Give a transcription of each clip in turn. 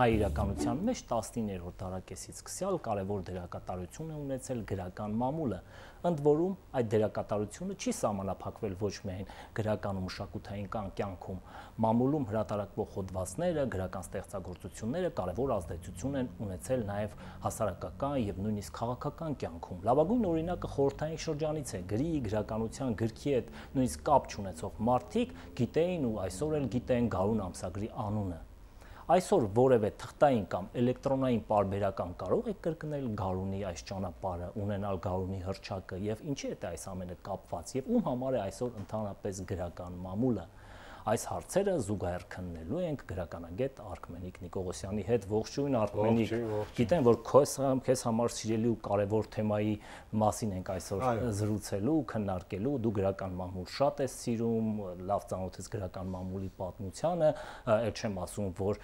հայ իրականության մեջ 19-րդ դարակեսից սկսյալ կարևոր դերակատարություն է ունեցել գրական մամուլը, ընդ որում այդ դերակատարությունը չի սահմանափակվել ոչ միայն գրական ու մշակութային կյանքում, մամուլում հրատարակվող հոդվածները, գրական ստեղծագործությունները կարևոր ազդեցություն են ունեցել նաև հասարակական եւ նույնիսկ քաղաքական կյանքում։ Լավագույն օրինակը խորհրդային շրջանից է, գրի, գրականության, գրքի հետ նույնիսկ կապ չունեցող մարդիկ գիտեին ու այսօր էլ գիտեն Գարուն ամսագրի անունը։ Այսօր որևէ թղթային կամ էլեկտրոնային պարբերական կարող է կրկնել Գարունի այս ճանապարհը, ունենալ Գարունի հռչակը եւ ինչի է այս ամենը կապված եւ ում համար է այսօր ընդհանրապես գրական մամուլը։ Այս հարցերը զուգահեռ քննելու ենք գրականագետ Արքմենիկ Նիկողոսյանի հետ։ Ողջույն Արքմենիկ։ Գիտեմ, որ քեզ համար սիրելի ու կարևոր թեմայի մասին ենք այսօր զրուցելու, քննարկելու։ Դու գրական մամուլ շատ ես սիրում, լավ ծանոթ ես գրական մամուլի պատմությանը, այլ չեմ ասում, որ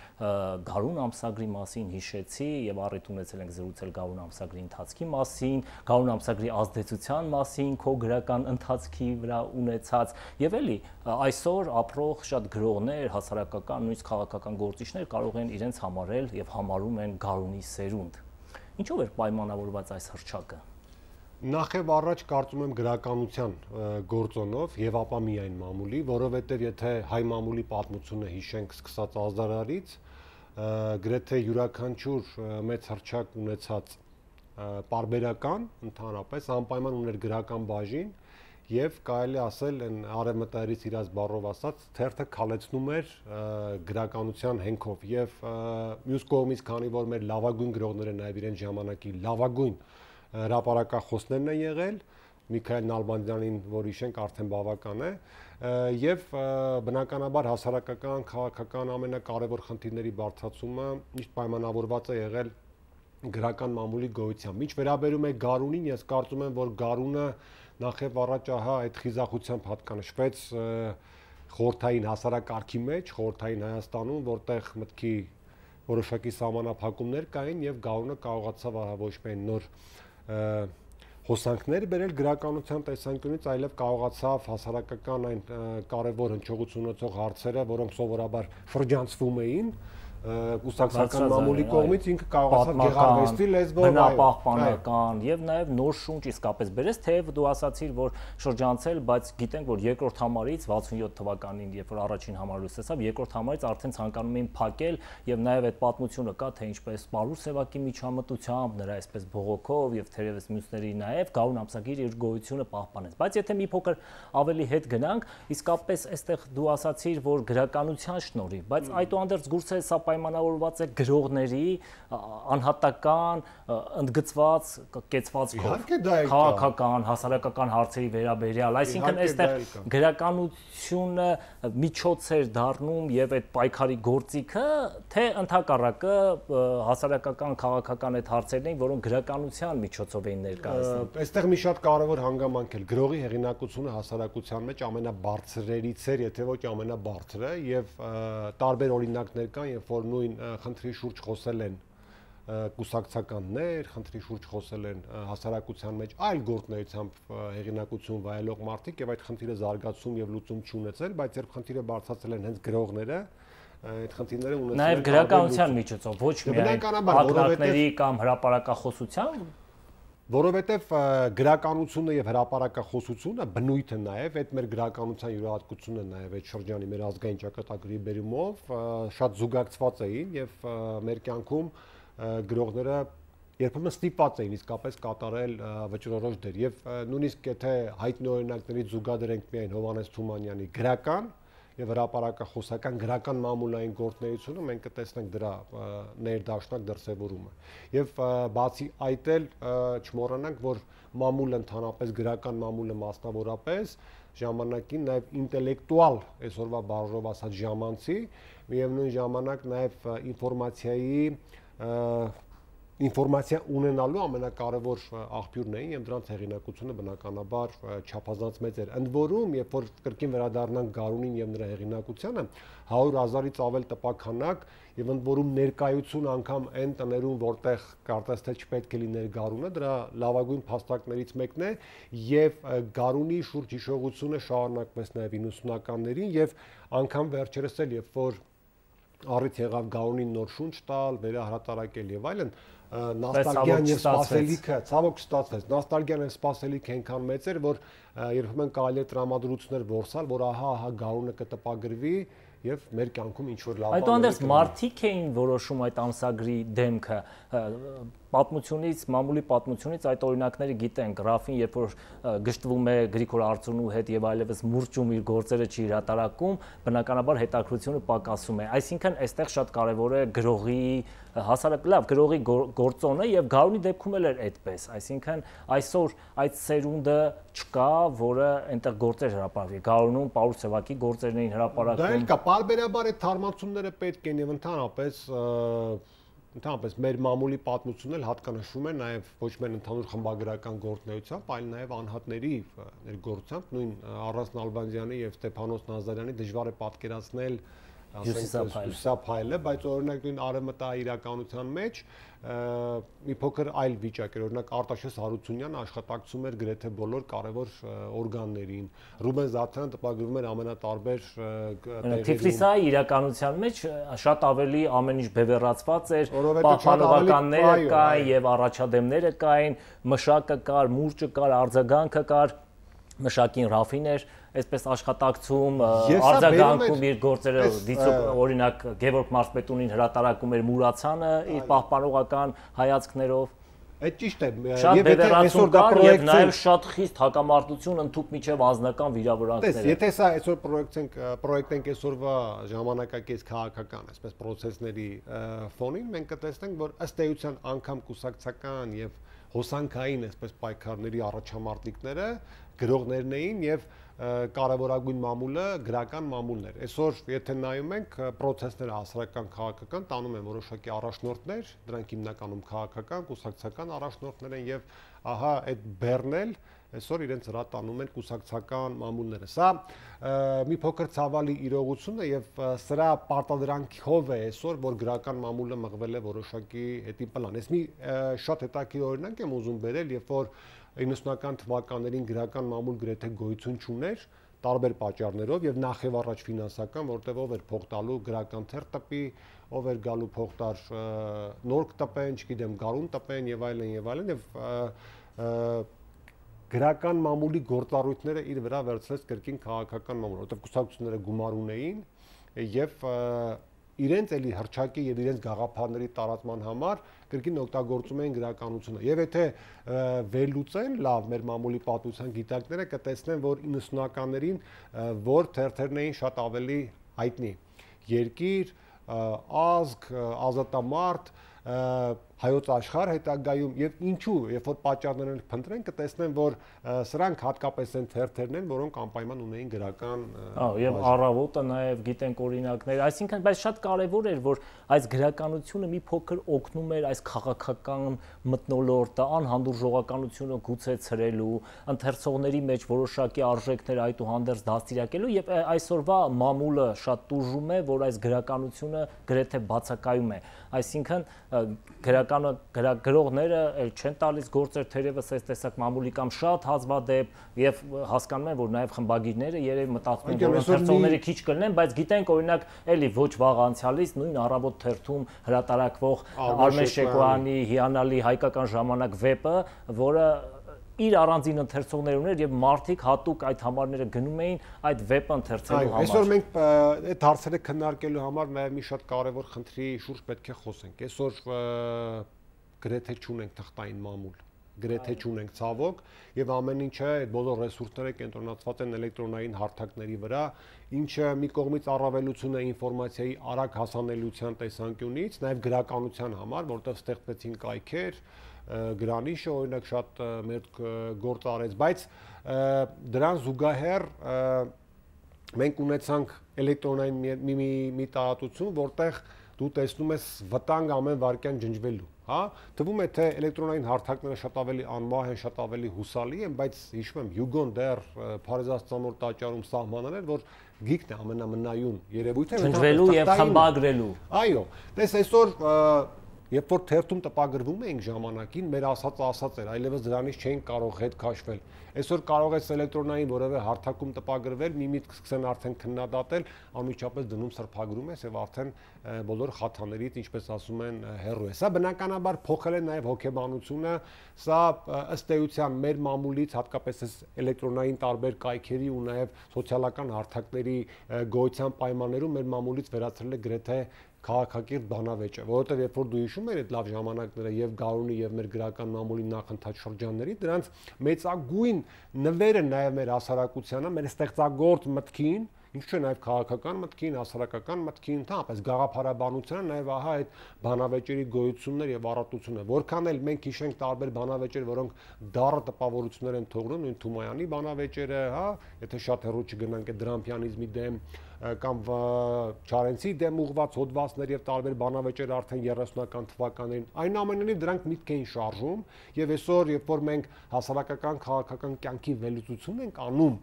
Գարուն ամսագրի մասին հիշեցի եւ առիթ ունեցել ենք զրուցել Գարուն ամսագրի ընթացքի մասին, Գարուն ամսագրի ազդեցության մասին, քո գրական ընթացքի վրա ունեցած եւ էլի այսօր ապրող շատ գրողներ, հասարակական, նույնիսկ քաղաքական գործիչներ կարող են իրենց համարել եւ համարում են Գարունի սերունդ։ Ինչով էր պայմանավորված այս հռչակը։ Նախ եւ առաջ կարծում եմ գրականության գործոնով եւ ապա միայն մամուլի, որովհետեւ եթե հայ մամուլի պատմությունը հիշենք սկսած ազդարարից, գրեթե յուրաքանչյուր մեծ հռչակ ունեցած պարբերական ընդհանրապես անպայման ուներ գրական բաժին եւ կարելի ասել են արևմտայրից իրաց բառով ասած թերթը քալեցնում էր գրականության հենքով եւ մյուս կողմից քանի որ մեր լավագույն գրողները նաեւ իրեն ժամանակի լավագույն հրապարակախոսներն են եղել Միքայել Նալբանդյանին որ հիշենք արդեն բավական է եւ բնականաբար հասարակական քաղաքական ամենակարևոր խնդիրների բարձրացումը միշտ պայմանավորված է եղել գրական մամուլի գոյությամբ։ Ինչ վերաբերում է Գարունին, ես կարծում եմ, որ Գարունը նախ եւ առաջ ահա այդ խիզախությամբ հատկանշվեց խորհրդային հասարակարգի մեջ, խորհրդային Հայաստանում, որտեղ մտքի որոշակի սահմանափակումներ կային եւ Գարունը կարողացավ ահա ոչ միայն նոր հոսանքներ բերել գրականության տեսանկյունից, այլև կարողացավ հասարակական այն կարևոր հնչողություն ունեցող հարցերը, որոնք սովորաբար շրջանցվում էին կուսակցական մամուլի կողմից ինքը կարողացավ գեղարվեստի լեզվով բնապահպանական եւ նաեւ նոր շունչ իսկապես բերեց, թեև դու ասացիր, որ շրջանցել, բայց գիտենք, որ երկրորդ համարից 67 թվականին, երբ որ առաջին համարը լուսեցավ, երկրորդ համարից արդեն ցանկանում էին փակել եւ նաեւ այդ պատմությունը կա, թե ինչպես Պարուս Սևակի միջամտությամբ, նրա այսպես բողոքով եւ թերևս մյուսների նաեւ Գարուն ամսագիր իր գոյությունը պահպանեց։ Բայց եթե մի փոքր ավելի հետ գնանք, իսկապես այստեղ դու ասացիր, որ գրականության շնորհիվ, բայց այդուհանդերձ գուցե սա պայմանավորված է գրողների անհատական, ընդգծված, կեցվածքով, քաղաքական, հասարակական հարցերի վերաբերյալ, այսինքն այստեղ գրականությունը միջոց էր դառնում եւ այդ պայքարի գործիքը, թե ընդհակառակը հասարակական, քաղաքական այդ հարցերն էին, որոնք գրականության միջոցով էին ներկայացնում։ Այստեղ մի շատ կարևոր հանգամանք է գրողի հեղինակությունը հասարակության մեջ ամենաբարձրերից էր, եթե ոչ ամենաբարձրը եւ տարբեր օրինակներ կան, երբ որ նույն խնդրի շուրջ խոսել են կուսակցականներ, խնդրի շուրջ խոսել են հասարակության մեջ այլ գործունեությամբ հեղինակություն վայելող մարդիկ եւ այդ խնդիրը զարգացում եւ լուծում չունեցել, բայց երբ խնդիրը բարձրացել են հենց գրողները, այդ խնդիրները ունեցել են նաեւ գրականության միջոցով, ոչ միայն պատմվածքների կամ հրապարակախոսության, որովհետև գրականությունը եւ հրապարակախոսությունը բնույթը նաեւ այդ մեր գրականության յուրահատկությունը նաեւ այդ շրջանի մեր ազգային ճակատագրի բերումով շատ զուգակցված էին եւ մեր կյանքում գրողները երբեմն ստիպված էին իսկապես կատարել վճռորոշ դեր եւ նույնիսկ եթե հայտնի օրինակներից զուգադրենք միայն Հովհաննես Թումանյանի գրական եւ հրապարակախոսական գրական մամուլային գործունեությունը մենք կտեսնենք դրա ներդաշնակ դրսևորումը եւ բացի այդ էլ չմոռանանք որ մամուլը ընդհանրապես գրական մամուլը մասնավորապես ժամանակին նաեւ ինտելեկտուալ այսօրվա բառով ասած ժամանցի միևնույն ժամանակ նաեւ ինֆորմացիա ունենալու ամենակարևոր աղբյուրն էին եւ դրանց հեղինակությունը բնականաբար չափազանց մեծ էր։ Ընդ որում, երբ որ կրկին վերադառնանք Գարունին եւ նրա հեղինակությանը, 100,000-ից ավել տպաքանակ եւ ընդ որում ներկայություն անգամ այն տներում, որտեղ կարծես թե չպետք է լիներ Գարունը, դրա լավագույն փաստարկներից մեկն է եւ Գարունի շուրջ հիշողությունը շարունակվեց նաեւ 90-ականներին եւ անգամ վերջերս էլ երբ որ առիթ եղավ Գաունին նոր շունչ տալ, վերահրատարակել եւ այլն, նոստալգիան եւ սպասելիքը, ցավոք չստացվեց։ Նոստալգիան եւ սպասելիքը այնքան մեծ էր, որ երբեմն կարելի է տրամադրություններ որսալ, որ ահա Գաունը կտպագրվի եւ մեր կյանքում ինչ որ լավ բաներ։ Այդուհանդերձ մարդիկ էին որոշում այդ ամսագրի դեմքը, պատմությունից, մամուլի պատմությունից այդ օրինակները գիտենք, Ռաֆին երբ որ գժտվում է Գրիգոր Արծունու հետ եւ այլևս մուրճում իր գործերը չի հրատարակում, բնականաբար հետաքրությունը պակասում է։ Այսինքն այստեղ շատ կարեւոր է գրողի հասարակ լավ գրողի գործոնը եւ Գարունի դեպքում էլ էր այդպես, այսինքն այսօր այդ սերունդը չկա, որը այնտեղ գործեր հրապարակի։ Գարունում Պաուլ Սևակի գործերն էին հրապարակում։ Դա էլ կա, բարբերաբար այդ թարմացումները պետք են եւ ընդհանրապես մեր մամուլի պատմությունն էլ հատկանշում է նաեւ ոչ միայն ընդհանուր խմբագրական գործնեությամբ, այլ նաեւ անհատների ներգործությամբ, նույն Առասն Ալբանդյանի եւ Ստեփանոս Նազարյանի դժվար է պատկերացնել Հյուսիսափայլը, բայց օրինակ նույն արևմտաիրականության մեջ մի փոքր այլ վիճակ էր, օրինակ Արտաշես Հարությունյանը աշխատակցում էր գրեթե բոլոր կարևոր օրգաններին, Ռուբեն Զաթարյանը տպագրվում էր ամենատարբեր տեղերում։ Թիֆլիսայի իրականության մեջ շատ ավելի ամեն ինչ բևեռացված էր, պահպանողականները կային եւ առաջադեմները կային, մշակը կար, մուրճը կար, արձագանքը կար, մշակին Ռաֆին էր այսպես աշխատակցում, արձագանքում իր գործերը դիցող օրինակ Գևորգ Մարզպետունին հրատարակում էր Մուրացյանը իր պահպանողական հայացքներով։ Այդ ճիշտ է։ Եւ այսօր դա պրոյեկտ նաեւ շատ խիստ հակամարտություն ընդհուպ միջև անձնական վիրավորանքներ։ Եթե սա այսօր պրոյեկտենք այսօրվա ժամանակակից քաղաքական, այսպես process-ների ֆոնին, մենք կտեսնենք, որ ըստ էության անգամ կուսակցական եւ հոսանքային այսպես պայքարների առաջամարտիկները գրողներն էին եւ կարևորագույն մամուլը գրական մամուլն էր։ Այսօր եթե նայում ենք process-ները հասարակական քաղաքական տանում են որոշակի առաջնորդներ, դրանք հիմնականում քաղաքական, կուսակցական առաջնորդներ են եւ ահա այդ բեռնել այսօր իրենց հրա տանում են կուսակցական մամուլները։ Սա մի փոքր ցավալի իրողություն է եւ սրա պարտադրանքով է այսօր որ գրական մամուլը մղվել է որոշակի հետի պլան։ Ես մի շատ հետաքրքիր օրինակ եմ ուզում բերել, երբ որ 90-ական թվականներին գրական մամուլ գրեթե գոյություն չուներ տարբեր պատճառներով եւ նախ եւ առաջ ֆինանսական, որտեղ ով էր փող տալու գրական թերթ տպի, ով էր գալու փող տար նորք տպեն, չգիտեմ, գարուն տպեն եւ այլն եւ գրական մամուլի գործառույթները իր վրա վերցրեց կրկին քաղաքական մամուլ, որտեղ կուսակցությունները գումար ունեին եւ իրենց էլի հրճակի եւ իրենց գաղափարների տարածման համար կրկին օգտագործում էին գրականությունը։ Եվ եթե վերլուծեն լավ մեր մամուլի պատմության գիտակները կտեսնեն, որ 90-ականներին որ թերթերն էին շատ ավելի հայտնի։ Երկիր, ազգ, ազատամարտ, հայոց աշխարհ հետագայում եւ ինչու, երբ որ պատճառներն փնտրեն, կտեսնեն, որ սրանք հատկապես են թերթերն են, որոնք անպայման ունեին գրական եւ առավոտը նաեւ գիտենք օրինակներ, այսինքն բայց շատ կարեւոր էր, որ այս գրականությունը մի փոքր օգնում էր այս քաղաքական մթնոլորտը, անհանդուրժողականությունը գուցե ցրելու, ընթերցողների մեջ որոշակի արժեքներ այդուհանդերձ դաստիարակելու եւ այսօրվա մամուլը շատ տուժում է, որ այս գրականությունը գրեթե բացակայում է, այսինքն գրողները չեն տալիս գործեր թերևս այս տեսակ մամուլի կամ շատ հազվադեպ եւ հասկանում են, որ նաեւ խմբագիրները երևի մտածում են, որ ընթերցողները քիչ կլինեն, բայց գիտենք օրինակ էլի ոչ վաղ անցյալից նույն առավոտ թերթում հրատարակվող Արմեն Շեկոյանի հիանալի հայկական ժամանակ վեպը, որը իր առանձին ընթերցողներ ուներ եւ մարդիկ հատուկ այդ համարները գնում էին այդ վեպը ընթերցելու համար։ Այսօր մենք այդ հարցերը քննարկելու համար նաեւ մի շատ կարեւոր խնդրի շուրջ պետք է խոսենք։ Այսօր գրեթե չունենք թղթային մամուլ, գրեթե չունենք ցավոք եւ ամեն ինչը այդ բոլոր ռեսուրսները կենտրոնացված են էլեկտրոնային հարթակների վրա, ինչը մի կողմից առավելություն է ինֆորմացիայի արագ հասանելիության տեսանկյունից, նաեւ գրականության համար, որտեղ ստեղծվեցին կայքեր, Գրանիշը օրինակ շատ մեր գործ արեց, բայց դրան զուգահեռ մենք ունեցանք էլեկտրոնային մի տարածություն, որտեղ դու տեսնում ես վտանգ ամեն վայրկյան ջնջվելու, հա, թվում է թե էլեկտրոնային հարթակները շատ ավելի անմահ են, շատ ավելի հուսալի են, բայց հիշում եմ Հյուգոն դեռ Փարեզաստանոր տաճարում սահմանել էր, որ գիքն է ամենամնայուն երևույթը ջնջվելու եւ խմբագրելու։ Այո, տես այսօր երբ որ թերթում տպագրվում էինք ժամանակին, մեր ասած էր, այլևս դրանից չէին կարող հետ քաշվել։ Այսօր կարող է էլեկտրոնային որևէ հարթակում տպագրվել, մի միտք սկսեն արդեն քննադատել, անմիջապես դնում սրբագրում ես եւ արդեն բոլոր խաթաներից, ինչպես ասում են, հեռու է։ Սա բնականաբար փոխել է նաեւ հոգեբանությունը, սա ըստ էության մեր մամուլից, հատկապես այս էլեկտրոնային տարբեր կայքերի ու նաեւ սոցիալական հարթակների գոյության պայմաններում մեր մամուլից վերածել է գրեթե քաղաքակիրթ բանավեճը, որովհետև երբ որ դու հիշում ես այդ լավ ժամանակները եւ Գարունի եւ մեր գրական մամուլի նախընթաց շրջանների, դրանց մեծագույն նվերը նաեւ մեր հասարակությանը, մեր ստեղծագործ մտքին, ինչ չէ նաեւ քաղաքական մտքին, հասարակական մտքին, ընդհանրապես գաղափարաբանությանը նաեւ ահա այդ բանավեճերի գոյություններ եւ առատությունը, որքան էլ մենք հիշենք տարբեր բանավեճեր, որոնք դառը տպավորություններ են թողնում, նույն Թումոյանի բանավեճերը, հա, եթե շատ հեռու չգնանք այդ դրամփյանիզմի դեմ կամ Չարենցի դեմ ուղված հոդվածներ եւ տարբեր բանավեճեր արդեն 30-ական թվականներին, այնուամենայնիվ դրանք միտք էին շարժում եւ այսօր երբ որ մենք հասարակական քաղաքական կյանքի վերլուծություն ենք անում,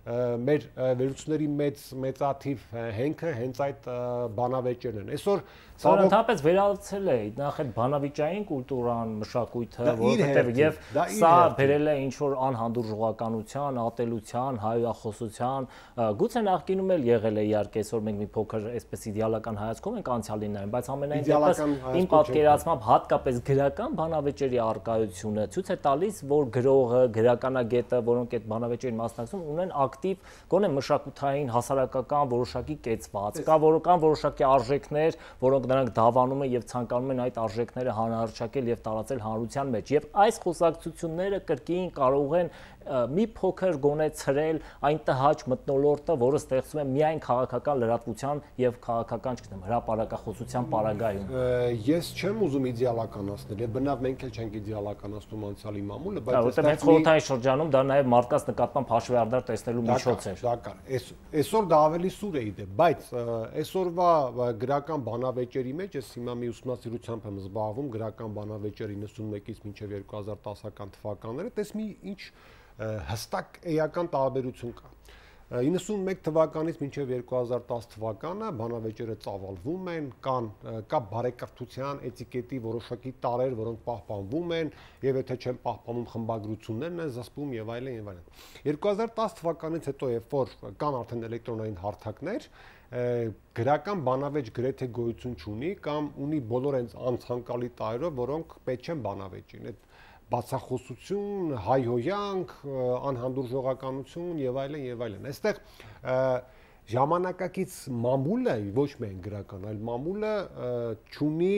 մեր վերլուծությունների մեծաթիվ հենքը հենց այդ բանավեճերն են։ Այսօր Ընդհանրապես վերացել է նախ այդ բանավիճային կուլտուրան, մշակույթը, որովհետև եւ սա բերել է ինչ-որ անհանդուրժողականության, ատելության, հայրախոսության, գուցե նախկինում էլ եղել է իհարկե, այսօր մենք մի փոքր այսպես իդեալական հայացքով ենք անցյալին նայում, բայց ամենայն դեպս իմ պատկերացմամբ հատկապես գրական բանավեճերի առկայությունը ցույց է տալիս, որ գրողը, գրականագետը, որոնք այդ բանավեճերին մասնակցում, ունեն ակտիվ գոնե մշակութային, հասարակական որոշակի կեցված, կան որոշակի արժեքներ, որոնք նրանք դավանում են եւ ցանկանում են այդ արժեքները հանրահռչակել եւ տարածել հանրության մեջ եւ այս խոսակցությունները կրկին կարող են մի փոքր գոնե ցրել այն տհաճ մթնոլորտը, որը ստեղծում է միայն քաղաքական լրատվության եւ քաղաքական, չգիտեմ, հրապարակախոսության պարագայում։ Ես չեմ ուզում իդեալականացնել եւ բնավ մենք էլ չենք իդեալականացնում անցյալի մամուլը, բայց որտեղ հենց խորհրդային շրջանում դա նաեւ մարդկանց նկատմամբ հաշվեհարդար տեսնելու միջոց էր։ Դա կար։ Այսօր դա ավելի սուր է իդե, բայց այսօրվա գրական բանավեճերի մեջ ես հիմա մի ուսումնասիրությամբ եմ զբաղվում գրական բանավեճեր 91-ից մինչև 2010-ական թվականները, տես մի ինչ հստակ էական տարբերություն կա։ 91 թվականից մինչև 2010 թվականը բանավեճերը ծավալվում են, կա բարեկրթության էտիկետի որոշակի տարրեր, որոնք պահպանվում են, եւ եթե չեն պահպանում խմբագրություններն են զսպում եւ այլն եւ այլն։ 2010 թվականից հետո երբ որ կան արդեն էլեկտրոնային հարթակներ, գրական բանավեճ գրեթե գոյություն չունի կամ ունի բոլոր այնց անցանկալի տարրերով, որոնք պետք չեն բանավեճին։ Այդ բացախոսություն, հայհոյանք, անհանդուրժողականություն եւ այլն եւ այլն։ Այստեղ ժամանակակից մամուլը ոչ միայն գրական, այլ մամուլը չունի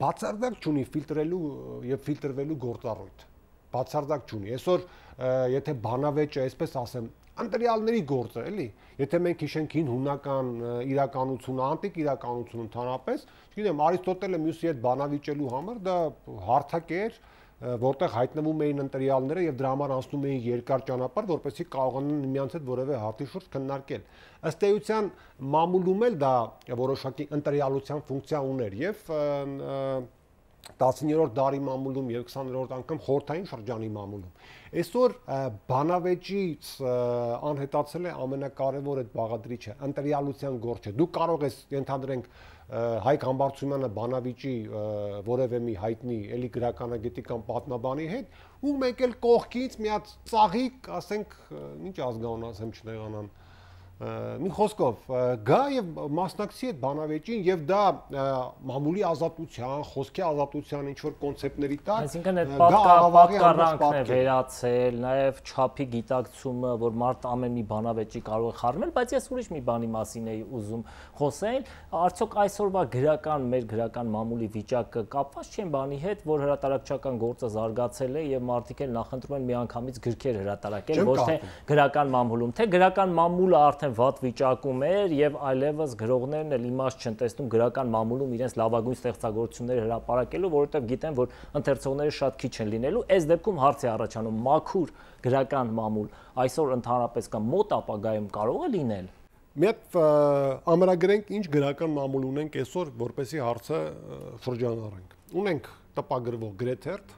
բացարձակ չունի ֆիլտրելու եւ ֆիլտրվելու գործառույթ։ Բացարձակ չունի։ Այսօր եթե բանավեճը, այսպես ասեմ, ընտրյալների գործ է, էլի։ Եթե մենք հիշենք հին հունական իրականությունը, անտիկ իրականությունը ընդհանրապես, չգիտեմ, Արիստոտելը մյուսի հետ բանավիճելու համար դա հարթակ էր, որտեղ հայտնվում էին ընտրյալները եւ դրա համար անցնում էին երկար ճանապարհ, որպեսզի կարողանան միմյանց հետ որևէ հարցի շուրջ քննարկել։ Ըստ էության մամուլում էլ դա որոշակի ընտրյալության ֆունկցիա ուներ եւ 19-րդ դարի մամուլում եւ 20-րդ անգամ խորհրդային շրջանի մամուլում։ Այսօր բանավեճից անհետացել է ամենակարևոր այդ բաղադրիչը, ընտրյալության գործը։ Դու կարող ես ենթադրենք Հայկ Համբարձումյանը բանավիճի որևէ մի հայտնի էլի գրականագետի կամ պատմաբանի հետ ու մեկ էլ կողքից մի հատ ծաղիկ, ասենք, ինչ ազգանուն ասեմ չնեղանան, մի խոսքով գա եւ մասնակցի այդ բանավեճին եւ դա մամուլի ազատության, խոսքի ազատության ինչ որ կոնցեպտների տակ, այսինքն այդ պատկառանքն է վերացել, նաեւ չափի գիտակցումը, որ մարդ ամեն մի բանավեճի կարող է խառնել, բայց ես ուրիշ մի բանի մասին էի ուզում խոսել, արդյոք այսօրվա գրական մեր գրական մամուլի վիճակը կապված չէ բանի հետ, որ հրատարակչական գործը զարգացել է եւ մարդիկ էլ նախընտրում են միանգամից գրքեր հրատարակել, ոչ թե գրական մամուլում, թե գրական մամուլը արդեն վատ վիճակում էր եւ այլևս գրողներն էլ իմաստ չեն տեսնում գրական մամուլում իրենց լավագույն ստեղծագործությունները հրապարակելու, որովհետեւ գիտեն, որ ընթերցողները շատ քիչ են լինելու։ Այս դեպքում հարց է առաջանում՝ մաքուր գրական մամուլ այսօր ընդհանրապես կամ մոտ ապագայում կարող է լինել։ Մի հատ ամրագրենք ինչ գրական մամուլ ունենք այսօր, որպեսզի հարցը շրջանառենք։ Ունենք տպագրվող գրեթերթ,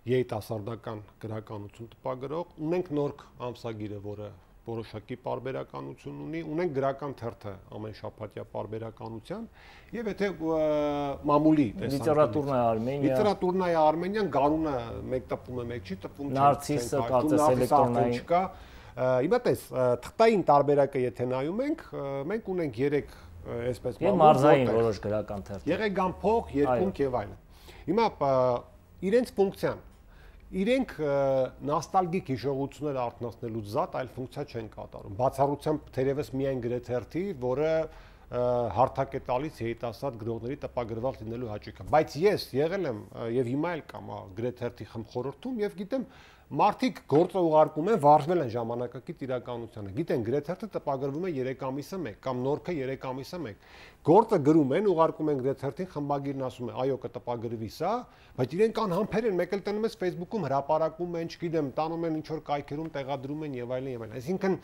երիտասարդական գրականություն տպագրող, ունենք նորք ամսագիրը, որը որոշակի պարբերականություն ունի, ունենք գրական թերթը ամեն շաբաթյա պարբերականության, եւ եթե մամուլի լիտերատուրնայա Արմենիա, լիտերատուրնայա Արմենիան գանունը մեկ տպում է, մեկ չի տպում, Նարցիսը կարծես էլեկտրոնային չկա։ Հիմա տես, թղթային տարբերակը եթե նայում ենք, մենք ունենք 3 այսպես եւ մարզային որոշ գրական թերթեր։ Եղեգան փող, երկունք եւ այլն։ Հիմա իրենց ֆունկցիան իրենք նոստալգիկ հիշողություններ արթնացնելուց զատ այլ ֆունկցիա չեն կատարում։ Բացառությամբ թերևս միայն գրեթերթի, որը հարթակ է տալիս երիտասարդ գրողների տպագրված լինելու հաճույքը։ Բայց ես եղել եմ եւ հիմա էլ կամ գրեթերթի խմխորհրդում եւ գիտեմ մարդիկ գործը ուղարկում են, վարժվել են ժամանակակից իրականությանը։ Գիտեն, գրեթերթը տպագրվում է 3 ամիսը 1 կամ նորքը 3 ամիսը 1։ Գործը գրում են, ուղարկում են գրեթերթին, խմբագիրն ասում է, այո, կտպագրվի սա, բայց իրենք անհամբեր են, մեկ էլ տնում ես Facebook-ում հրապարակում են, չգիտեմ, տանում են ինչ որ կայքերում տեղադրում են եւ այլն եւ այլն։ Այսինքն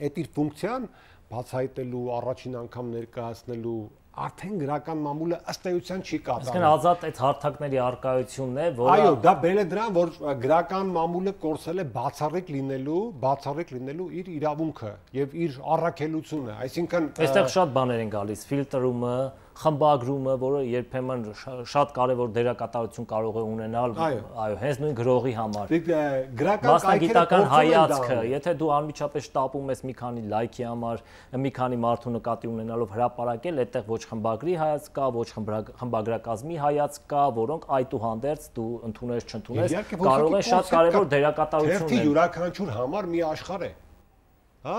այդ իր ֆունկցիան բացահայտելու, առաջին անգամ ներկայացնելու արդեն գրական մամուլը ըստ էության չի կատարում։ Այսինքն ազատ այդ հարթակների արկայությունն է, որը այո, դա բերել է դրան, որ գրական մամուլը կորցել է բացառիկ լինելու իր իրավունքը եւ իր առաքելությունը, այսինքն այստեղ շատ բաներ են գալիս, ֆիլտրումը, խմբագրումը, որը երբեմն շատ կարևոր դերակատարություն կարող է ունենալ, այո, հենց նույն գրողի համար։ Գրական մասնագիտական հայացքը, եթե դու անմիջապես շտապում ես մի քանի լայքի համար, մի քանի մարդու նկատի ունենալով հրապարակել, այդտեղ ոչ խմբագրի հայացք կա, ոչ խմբագրակազմի հայացք կա, որոնք այդուհանդերձ դու ընդունես, չընդունես, կարող է շատ կարևոր դերակատարություն ունենալ։ Թերթի յուրաքանչյուր համար մի աշխարհ է։ Հա,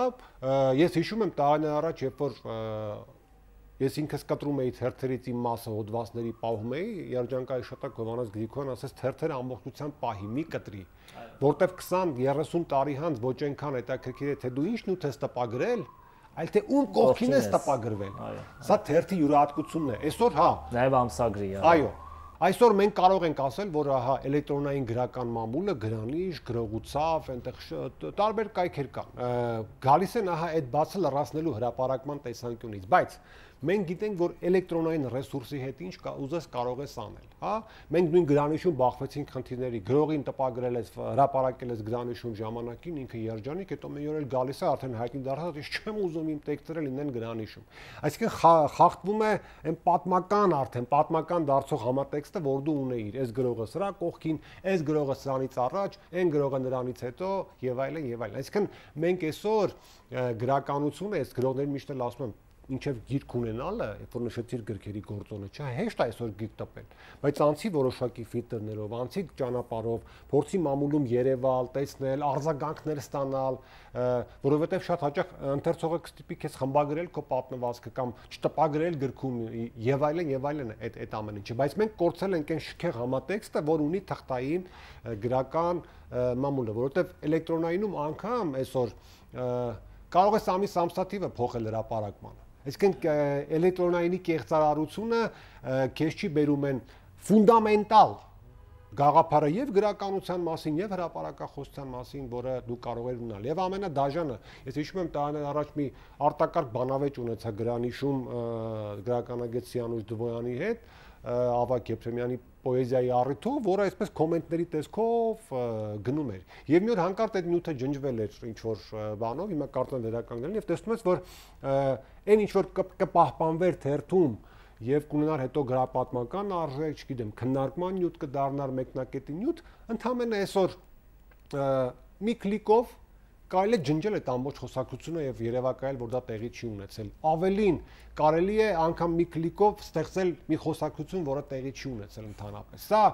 ես հիշում եմ տարիներ առաջ, երբ որ ես ինքս կտրում էի թերթերից իմ մասը հոդվածների պահում էի, երջանկայի շտակ Հովանես Գրիգորյան ասեց թերթերը ամբողջությամբ պահի, մի կտրի, որտեվ 20-30 տարի հանց ոչ այնքան հետաքրքիր է թե դու ինչ նյութ ես տպագրել, այլ թե ում կողքին ես տպագրվել։ Սա թերթի յուրահատկությունն է։ Այսօր հա, նաև ամսագրի, այո։ Այսօր մենք կարող ենք ասել, որ ահա էլեկտրոնային գրական մամուլը գրանիշ, գրողուցավ, այնտեղ տարբեր կայքեր կան։ Գալիս են ահա այդ բացը լրացնելու հրապարակման տեսանկյունից, բայց մենք գիտենք, որ էլեկտրոնային ռեսուրսի հետ ինչ ուզես կարող ես անել, հա։ Մենք նույն գրանիշում բախվեցինք խնդիրների, գրողին տպագրել ես, հրապարակել ես գրանիշում ժամանակին, ինքը երջանիկ, հետո մի օր էլ գալիս է արդեն հայտնի դարձած, ես չեմ ուզում իմ տեքստերը լինեն գրանիշում։ Այսինքն խախտվում է այն պատմական դարձող համատեքստը, որ դու ունեիր, այս գրողը սրա կողքին, այս գրողը սրանից առաջ, այն գրողը նրանից հետո եւ այլն եւ այլն։ Այսինքն մենք այսօր գրականությունը, այս գրողներին միշտ էլ ասում եմ, ինչեւ գիրք ունենալը, երբ որ նշեցիր գրքերի գործոնը, չէ, հեշտ է այսօր գիրք տպել, բայց անցի որոշակի ֆիլտրներով, անցի ճանապարհով, փորձի մամուլում երևալ, տեսնել, արձագանքներ ստանալ, որովհետեւ շատ հաճախ ընթերցողը կստիպի քեզ խմբագրել քո պատմվածքը կամ չտպագրել գրքում եւ այլն այդ ամեն ինչը, բայց մենք կորցել ենք այն շքեղ համատեքստը, որ ունի թղթային գրական մամուլը, որովհետեւ էլեկտրոնայինում անգամ այսօր կարող ես ամսաթիվը փոխել հրապարակմանը։ Այսինքն էլեկտրոնայինի կեղծարարությունը քեզ չի բերում են ֆունդամենտալ գաղափարը եւ գրականության մասին եւ հրապարակախոսության մասին, որը դու կարող ես ունենալ։ Եվ ամենադաժանը, ես հիշում եմ տարիներ առաջ մի արտակարգ բանավեճ ունեցա գրանիշում գրականագետ Սիանուշ Դվոյանի հետ, Ավակ Եփրեմյանի պոեզիայի առիթով, որը այսպես կոմենտների տեսքով գնում էր։ Եվ մի օր հանկարծ այդ նյութը ջնջվել էր ինչ որ բանով, հիմա կարծեմ վերականգնելն եւ տեսնում ես, որ այն ինչ որ կպահպանվեր թերթում եւ կունենար հետո գրապատմական արժեք, չգիտեմ, քննարկման նյութ կդառնար մեկնակետի նյութ, ընդհանրապես այսօր մի կլիկով կարելի է ջնջել այդ ամբողջ խոսակցությունը եւ երևակայել, որ դա տեղի չի ունեցել։ Ավելին, կարելի է անգամ մի կլիկով ստեղծել մի խոսակցություն, որը տեղի չի ունեցել ընդհանրապես։ Սա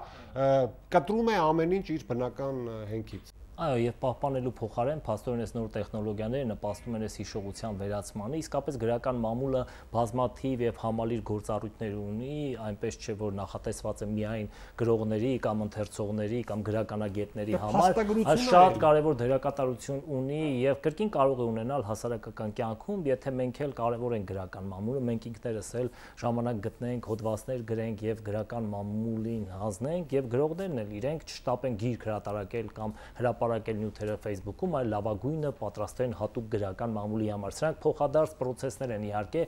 կտրում է ամեն ինչ իր բնական հենքից։ Այո, եւ պահպանելու փոխարեն փաստորեն այս նոր տեխնոլոգիաները նպաստում են այս հիշողության վերացմանը, իսկապես գրական մամուլը բազմաթիվ եւ համալիր գործառույթներ ունի, այնպես չէ որ նախատեսված է միայն գրողների կամ ընթերցողների կամ գրականագետների համար, այլ շատ կարեւոր դերակատարություն ունի եւ կրկին կարող է ունենալ հասարակական կյանքում, եթե մենք էլ կարեւոր ենք գրական մամուլը, մենք ինքներս էլ ժամանակ գտնենք, հոդվածներ գրենք եւ գրական մամուլին հանձնենք եւ գրողներն էլ իրենք չշտապեն գիրք հրատարակել կամ հրապարակել հրապարակել նյութերը Facebook-ում, այլ լավագույնը պատրաստել են հատուկ գրական մամուլի համար։ Սրանք փոխադարձ պրոցեսներ են, իհարկե,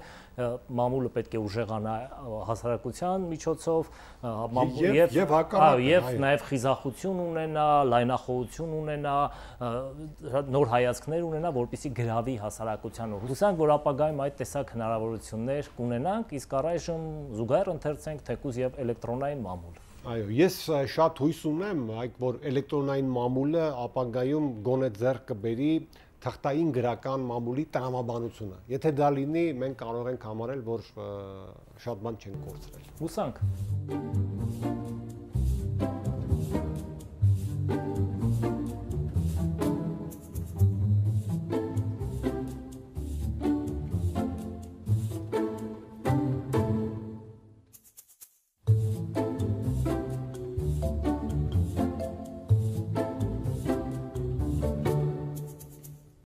մամուլը պետք է ուժեղանա հասարակության միջոցով եւ նաեւ խիզախություն ունենա, լայնախոհություն ունենա, նոր հայացքներ ունենա, որպեսզի գրավի հասարակությանը։ Հուսանք, որ ապագայում այդ տեսակ հնարավորություններ կունենանք, իսկ առայժմ զուգահեռ ընթերցենք թեկուզ եւ էլեկտրոնային մամուլ։ Այո, ես շատ հույս ունեմ, որ էլեկտրոնային մամուլը ապագայում գոնե ձեռք կբերի թղթային գրական մամուլի տրամաբանությունը։ Եթե դա լինի, մենք կարող ենք համարել, որ շատ բան չենք կորցրել։ Հուսանք։